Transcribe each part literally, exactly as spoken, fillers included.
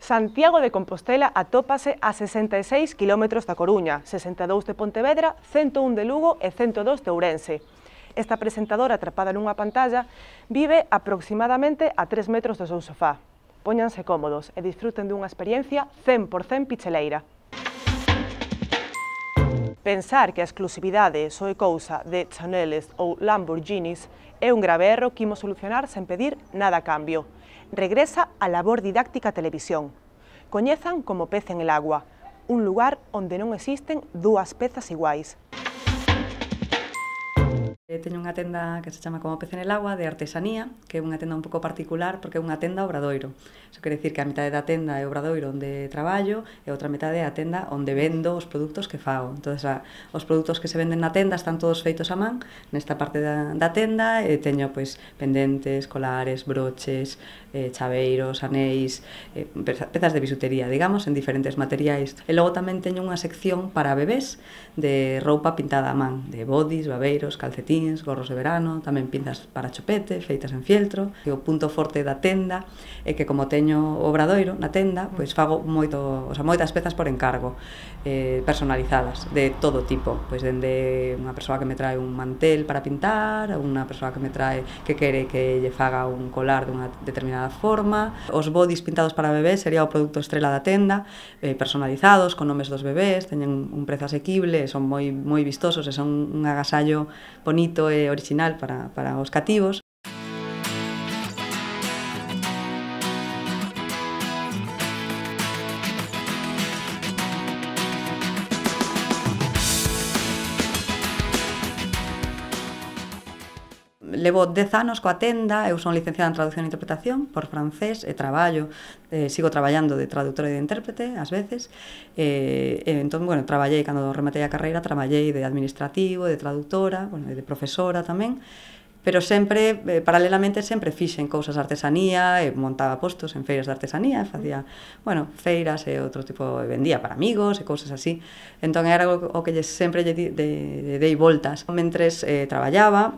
Santiago de Compostela atópase a sesenta e seis kilómetros da Coruña, sesenta e dous de Pontevedra, cento un de Lugo e cento dos de Ourense. Esta presentadora atrapada nunha pantalla vive aproximadamente a tres metros do seu sofá. Póñanse cómodos e disfruten dunha experiencia cen por cen picheleira. Pensar que a exclusividade só é cousa de Chaneles ou Lamborghinis é un grave erro que imos solucionar sen pedir nada a cambio. Regresa a labor didáctica a televisión. Coñezan como Pez en el agua, un lugar onde non existen dúas pezas iguais. Teño unha tenda que se chama Como Pez en el agua, de artesanía, que é unha tenda un pouco particular porque é unha tenda obradoiro. Iso quere dicir que a metade da tenda é obradoiro onde traballo e outra metade é a tenda onde vendo os produtos que fago. Entón, a, os produtos que se venden na tenda están todos feitos a man nesta parte da, da tenda e teño pois pendentes, colares, broches, eh, chaveiros, anéis, eh, pezas de bisutería, digamos, en diferentes materiais. E logo tamén teño unha sección para bebés de roupa pintada a man, de bodys, babeiros, calcetín, gorros de verano, tamén pinzas para chopete, feitas en fieltro. E o punto forte da tenda é que como teño obradoiro na tenda, pois fago moito, o sea, moitas pezas por encargo, eh, personalizadas, de todo tipo, pois dende unha persoa que me trae un mantel para pintar, a unha persoa que me trae que quere que lle faga un colar dunha determinada forma. Os bodys pintados para bebés sería o produto estrela da tenda, eh, personalizados, con nomes dos bebés, teñen un prezo asequible, son moi moi vistosos e son un agasallo bonito e original para, para os cativos. Levo dez anos coa tenda, eu son licenciada en traducción e interpretación por francés e traballo, eh, sigo traballando de traductora e de intérprete ás veces, e, e entón, bueno, traballei, cando rematei a carreira, traballei de administrativo, de traductora, bueno, e de profesora tamén, pero sempre, eh, paralelamente, sempre fixen cousas de artesanía, e montaba postos en feiras de artesanía, e facía, bueno, feiras e outro tipo, e vendía para amigos e cousas así. Entón era o que sempre lle dei voltas. Mentres eh, traballaba,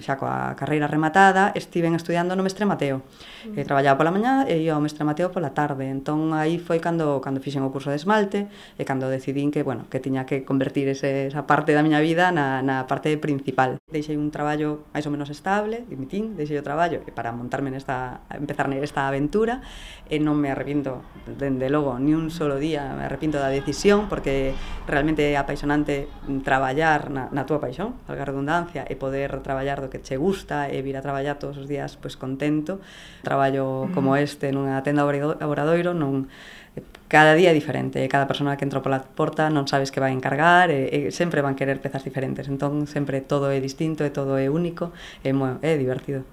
xa coa carreira rematada, estiven estudiando no Mestre Mateo. Eh, traballaba pola mañá e ia ao Mestre Mateo pola tarde. Entón aí foi cando, cando fixen o curso de esmalte e cando decidín que, bueno, que tiña que convertir ese, esa parte da miña vida na, na parte principal. Deixei un traballo máis ou menos estable, dimitín, deixei o traballo para montarme nesta, empezar nesta aventura e non me arrepiento, dende logo, ni un solo día me arrepiento da decisión, porque realmente é apaixonante traballar na, na túa paixón, valga a redundancia, e poder traballar do que che gusta e vir a traballar todos os días pois contento. Traballo como este nunha tenda obradoiro, non cada día é diferente, cada persona que entra pola porta non sabes que vai encargar e, e sempre van querer pezas diferentes, entón sempre todo é distinto e todo é único e é divertido.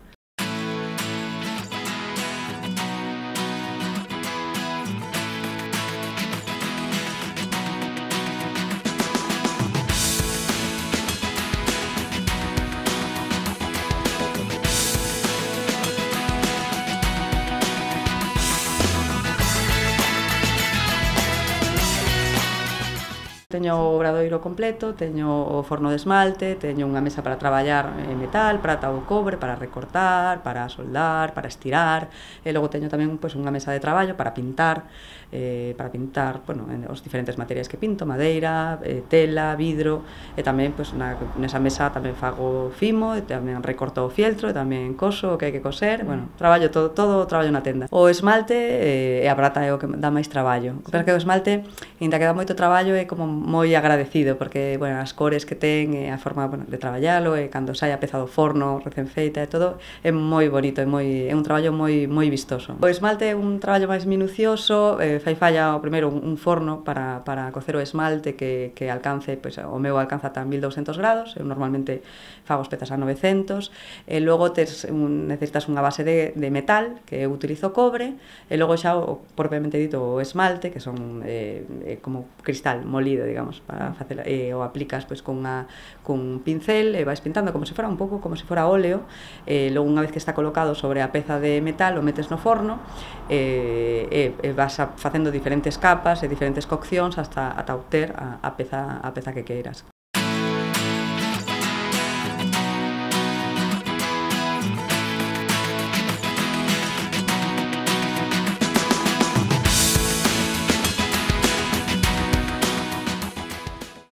Teño o obradoiro completo, teño o forno de esmalte, teño unha mesa para traballar en metal, prata ou cobre, para recortar, para soldar, para estirar, e logo teño tamén pois, unha mesa de traballo para pintar, eh, para pintar, bueno, os diferentes materiais que pinto, madeira, eh, tela, vidro, e tamén pois, na, nesa mesa tamén fago fimo, e tamén recorto o fieltro, e tamén coso o que hai que coser, bueno, traballo todo, todo traballo na tenda. O esmalte eh, e a prata é o que dá máis traballo, pero que o esmalte, ainda que dá moito traballo, é como moi agradecido, porque, bueno, as cores que ten e a forma, bueno, de traballalo, e cando sai a peza do forno recén feita e todo, é moi bonito, é, moi, é un traballo moi, moi vistoso. O esmalte é un traballo máis minucioso, eh, fai falla, o primeiro, un forno para, para cocer o esmalte que, que alcance, pois, o meu alcanza ata mil douscentos grados, eu normalmente fago as pezas a novecentos, e logo tes un, necesitas unha base de, de metal, que eu utilizo cobre, e logo xa, o, propiamente dito, o esmalte, que son eh, como cristal molido, digamos, para facer, e o aplicas pois con unha cun pincel e vais pintando como se fora un pouco como se fora óleo, e logo unha vez que está colocado sobre a peza de metal o metes no forno e, e, e vas a, facendo diferentes capas e diferentes coccións hasta ata obter a, a peza a peza que queiras.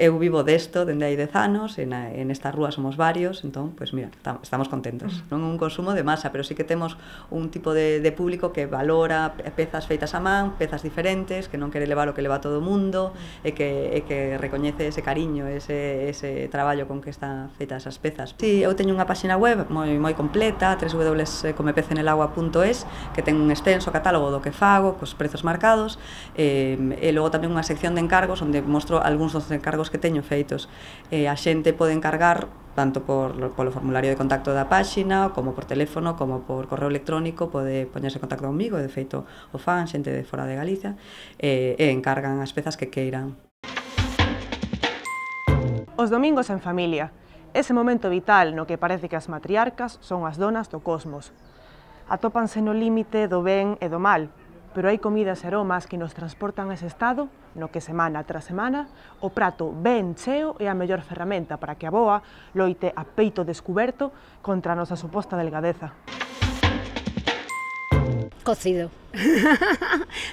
eu vivo desto dende hai dez anos, en, a, en esta rúa somos varios, entón, pois mira, estamos contentos. Non é un consumo de masa, pero sí que temos un tipo de, de público que valora pezas feitas a man, pezas diferentes, que non quere levar o que leva todo o mundo, e que, e que recoñece ese cariño, ese, ese traballo con que están feitas as pezas. Sí, eu teño unha páxina web moi, moi completa, doble u doble u doble u punto come pez en el agua punto es, que ten un extenso catálogo do que fago, cos prezos marcados, e, e logo tamén unha sección de encargos onde mostro algúns dos encargos que teño feitos. E a xente pode encargar tanto por, polo formulario de contacto da páxina, como por teléfono, como por correo electrónico, pode poñerse en contacto comigo, de feito o fan, xente de fora de Galicia, e, e encargan as pezas que queiran. Os domingos en familia, ese momento vital no que parece que as matriarcas son as donas do cosmos. Atópanse no límite do ben e do mal, pero hai comidas e aromas que nos transportan a ese estado no que semana tras semana o prato ben cheo é a mellor ferramenta para que a boa loite a peito descuberto contra a nosa suposta delgadeza. Cocido.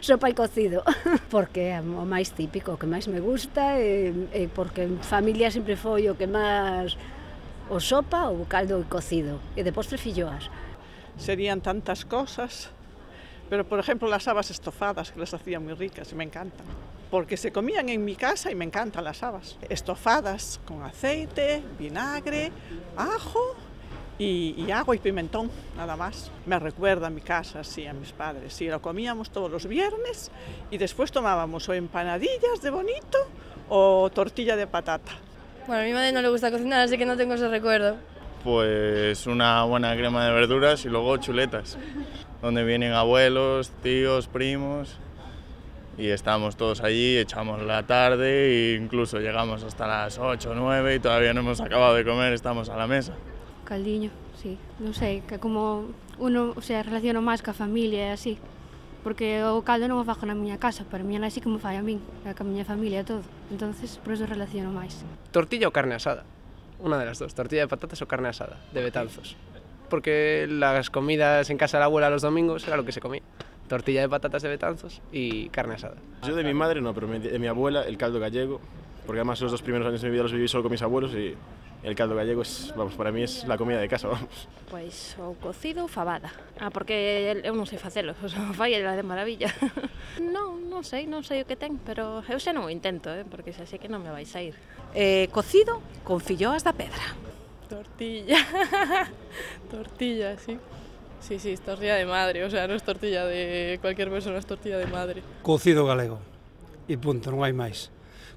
Sopa e cocido. Porque é o máis típico, o que máis me gusta, e, e porque en familia sempre foi o que máis o sopa, o caldo e cocido. E de postre filloas. Serían tantas cosas. Pero, por ejemplo, las habas estofadas, que las hacía muy ricas y me encantan. Porque se comían en mi casa y me encantan las habas. Estofadas con aceite, vinagre, ajo y, y agua y pimentón, nada más. Me recuerda a mi casa, sí, a mis padres. Sí, lo comíamos todos los viernes y después tomábamos o empanadillas de bonito o tortilla de patata. Bueno, a mi madre no le gusta cocinar, así que no tengo ese recuerdo. Pues una buena crema de verduras y luego chuletas, donde vienen abuelos, tíos, primos, y estamos todos allí, echamos la tarde e incluso llegamos hasta las ocho o nueve y todavía no hemos acabado de comer, estamos a la mesa. Caldiño, sí, non sei, que como uno se relaciona máis ca familia e así, porque o caldo non o fago na miña casa, pero a miña nai sí que me fai a min, e ca miña familia e todo, entonces por eso relaciono máis. Tortilla ou carne asada, una de las dos, tortilla de patatas o carne asada, de Betanzos. Porque las comidas en casa de la abuela los domingos era lo que se comía. Tortilla de patatas de Betanzos y carne asada. Yo de mi madre no, pero de mi abuela el caldo gallego, porque además los dos primeros años de mi vida los viví solo con mis abuelos y el caldo gallego es, vamos, para mí es la comida de casa, vamos. Pois o cocido ou fabada. Ah, porque eu non sei facelo, o fai ela de maravilla. Non, non sei, non sei o que ten, pero eu xa non o intento, eh, porque xa sei que non me vai sair. Eh, cocido con filloas da pedra. Tortilla. Tortilla, sí. Sí, sí, es tortilla de madre, o sea, no es tortilla de cualquier persona, es tortilla de madre. Cocido galego, e punto, non hai máis.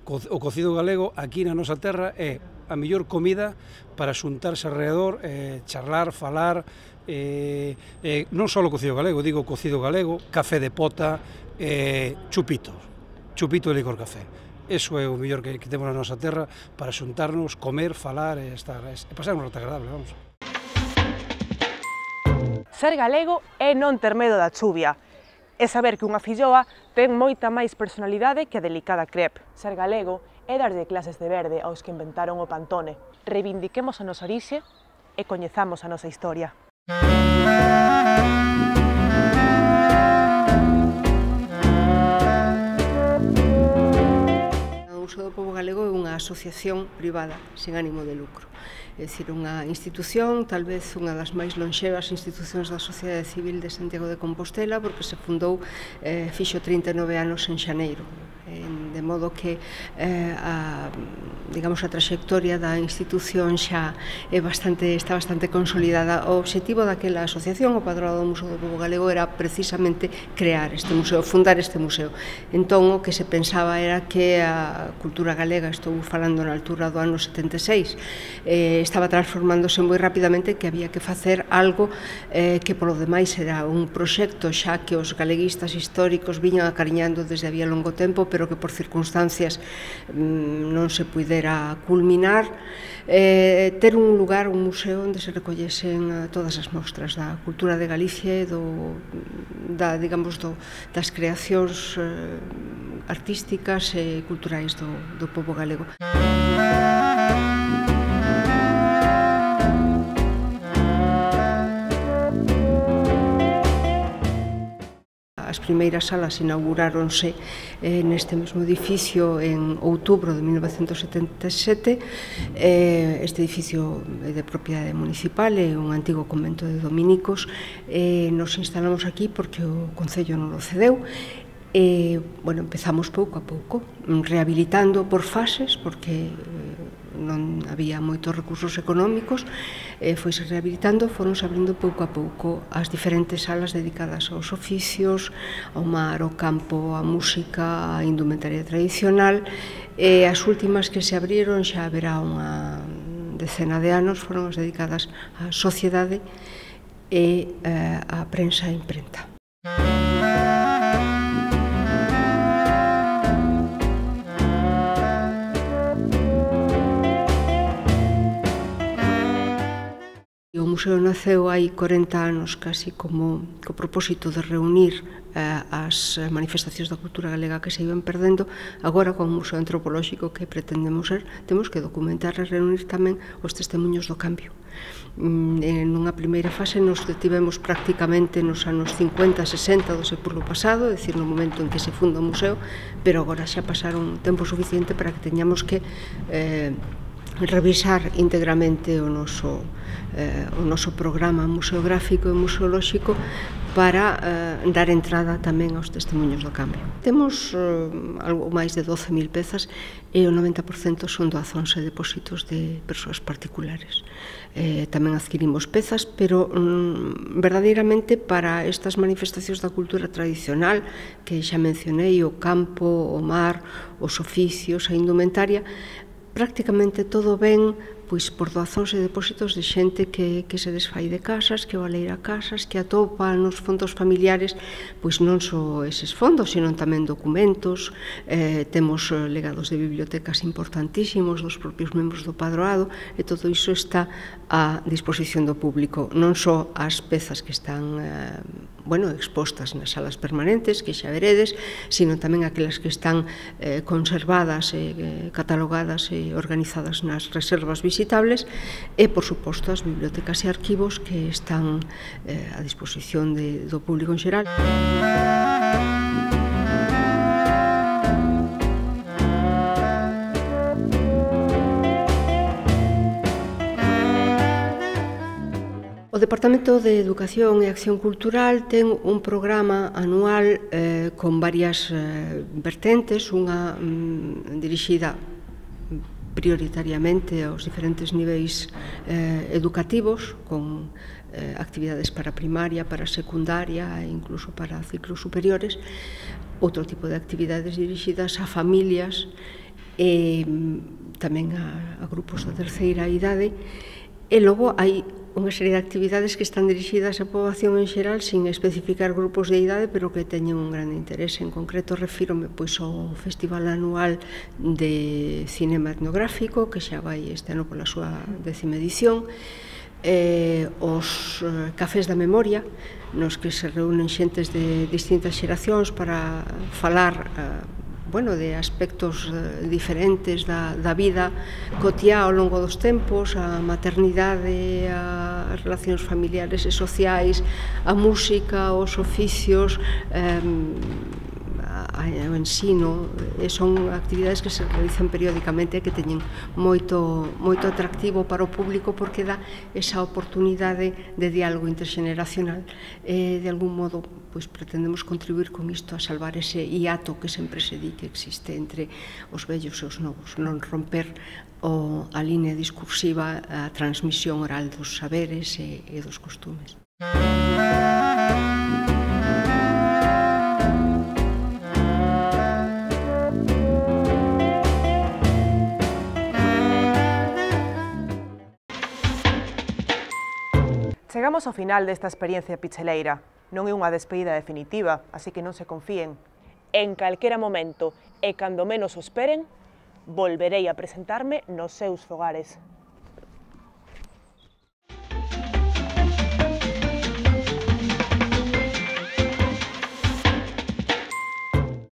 O cocido galego aquí na nosa terra é a mellor comida para xuntarse alrededor, eh, charlar, falar, eh, eh, non só o cocido galego, digo cocido galego, café de pota, eh, chupitos, chupito de licor café. Eso é o mellor que, que temos na nosa terra para xuntarnos, comer, falar e estar, e pasar un rato agradable, vamos. Ser galego é non ter medo da chuvia, é saber que unha filloa ten moita máis personalidade que a delicada crepe. Ser galego é darlle clases de verde aos que inventaron o Pantone. Reivindiquemos a nosa orixe e coñezamos a nosa historia. O Museo do Pobo Galego é unha asociación privada, sen ánimo de lucro. É dicir, unha institución, tal vez unha das máis lonxevas institucións da sociedade civil de Santiago de Compostela, porque se fundou, eh, fixo trinta e nove anos en xaneiro, eh, de modo que eh, a, digamos, a trayectoria da institución xa é bastante, está bastante consolidada. O obxectivo daquela asociación, o Padroado do Museo do Pobo Galego, era precisamente crear este museo, fundar este museo. Entón, o que se pensaba era que a cultura galega, estou falando na altura do ano setenta e seis, eh, estaba transformándose moi rapidamente, que había que facer algo eh, que polo demais era un proxecto xa que os galeguistas históricos viñan acariñando desde había longo tempo, pero que por circunstancias mmm, non se puidera culminar, eh, ter un lugar, un museo onde se recollesen todas as mostras da cultura de Galicia e do, da, digamos, do, das creacións eh, artísticas e culturais do, do pobo galego. As primeiras salas inauguráronse eh, neste mesmo edificio en outubro de mil novecentos setenta e sete. Eh, este edificio é de propiedade municipal, é un antigo convento de dominicos. Eh, nos instalamos aquí porque o Concello non o cedeu. E, bueno, empezamos pouco a pouco, rehabilitando por fases, porque non había moitos recursos económicos, e foise rehabilitando, foronse abrindo pouco a pouco as diferentes salas dedicadas aos oficios, ao mar, ao campo, á música, á indumentaria tradicional, e as últimas que se abriron xa haberá unha decena de anos, foron as dedicadas á sociedade e á prensa e imprenta. O museo naceu hai corenta anos casi como co propósito de reunir eh, as manifestacións da cultura galega que se iban perdendo. Agora, como museo antropolóxico que pretendemos ser, temos que documentar e reunir tamén os testemunhos do cambio. En unha primeira fase nos detivemos prácticamente nos anos cincuenta, sesenta do século pasado, é dicir, no momento en que se funda o museo, pero agora xa pasaron tempo suficiente para que teñamos que eh, revisar íntegramente o noso, eh, o noso programa museográfico e museolóxico para eh, dar entrada tamén aos testemunhos do cambio. Temos eh, algo máis de doce mil pezas e o noventa por cento son doazóns e depósitos de persoas particulares. Eh, tamén adquirimos pezas, pero mm, verdadeiramente para estas manifestacións da cultura tradicional que xa mencionei, o campo, o mar, os oficios, a indumentaria, prácticamente todo ben pois por doazóns e depósitos de xente que, que se desfai de casas, que valeira casas, que atopa nos fondos familiares, pois non só eses fondos, sino tamén documentos, eh, temos legados de bibliotecas importantísimos dos propios membros do padroado, e todo iso está a disposición do público, non só as pezas que están eh, bueno, expostas nas salas permanentes, que xa veredes, sino tamén aquelas que están eh, conservadas, eh, catalogadas e organizadas nas reservas visitables, e, por suposto, as bibliotecas e arquivos que están eh, a disposición de, do público en xeral. O Departamento de Educación e Acción Cultural ten un programa anual eh, con varias eh, vertentes, unha mm, dirixida prioritariamente aos diferentes niveis eh, educativos, con eh, actividades para primaria, para secundaria e incluso para ciclos superiores, outro tipo de actividades dirixidas a familias e tamén a, a grupos da terceira idade, e logo hai unha serie de actividades que están dirixidas á poboación en xeral sin especificar grupos de idade, pero que teñen un grande interés. En concreto, refírome pois ao Festival Anual de Cinema Etnográfico, que xa vai este ano pola súa décima edición, eh, os eh, cafés da memoria, nos que se reúnen xentes de distintas xeracións para falar eh, bueno, de aspectos eh, diferentes da, da vida cotiá ao longo dos tempos, a maternidade, as relacións familiares e sociais, a música, os oficios, eh, o ensino, e son actividades que se realizan periódicamente e que teñen moito, moito atractivo para o público porque dá esa oportunidade de diálogo interxeneracional. E, de algún modo, pois pretendemos contribuir con isto a salvar ese hiato que sempre se di que existe entre os vellos e os novos, non romper o, a línea discursiva, a transmisión oral dos saberes e, e dos costumes. Chegamos ao final desta experiencia picheleira. Non é unha despedida definitiva, así que non se confíen. En calquera momento, e cando menos o esperen, volverei a presentarme nos seus fogares.